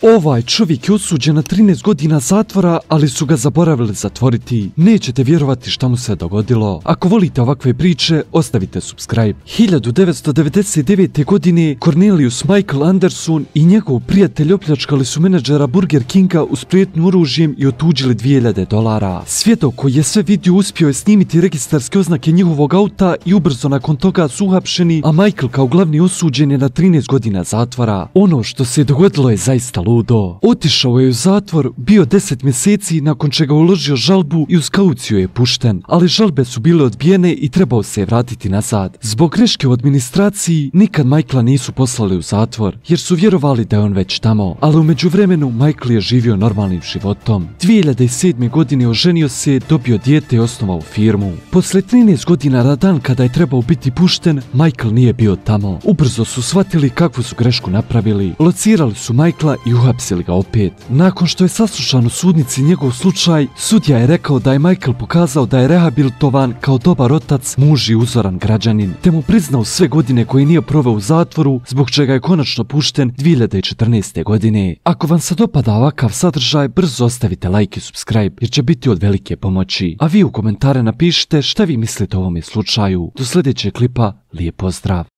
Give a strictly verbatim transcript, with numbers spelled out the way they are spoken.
Ovaj čovjek je osuđen na trinaest godina zatvora, ali su ga zaboravili zatvoriti. Nećete vjerovati šta mu se dogodilo. Ako volite ovakve priče, ostavite subscribe. hiljadu devetsto devedeset devete. godine Cornelius Michael Anderson i njegov prijatelj opljačkali su menadžera Burger Kinga uz prijetnju oružjem i otuđili dvije hiljade dolara. Svjedok koji je sve vidio uspio je snimiti registarske oznake njihovog auta i ubrzo nakon toga su uhapšeni, a Michael kao glavni osuđen je na trinaest godina zatvora. Ono što se dogodilo je zaista ludo. Otišao je u zatvor, bio deset mjeseci, nakon čega uložio žalbu i uz kauciju je pušten, ali žalbe su bile odbijene i trebao se je vratiti nazad. Zbog greške u administraciji nikad Michaela nisu poslali u zatvor, jer su vjerovali da je on već tamo, ali u međuvremenu Michael je živio normalnim životom. dvije hiljade sedme. godine oženio se, dobio dijete i osnovao firmu. Posle trinaest godina na dan kada je trebao biti pušten, Michael nije bio tamo. Ubrzo su shvatili kakvu su grešku napravili. Locirali su Michaela i uhapsili ga opet. Nakon što je saslušan u sudnici njegov slučaj, sudija je rekao da je Michael pokazao da je rehabilitovan kao dobar otac, muž i uzoran građanin, te mu priznao sve godine koje nije proveo u zatvoru, zbog čega je konačno pušten dvije hiljade četrnaeste. godine. Ako vam se dopada ovakav sadržaj, brzo ostavite like i subscribe, jer će biti od velike pomoći. A vi u komentare napišite šta vi mislite o ovome slučaju. Do sljedećeg klipa, lijep pozdrav!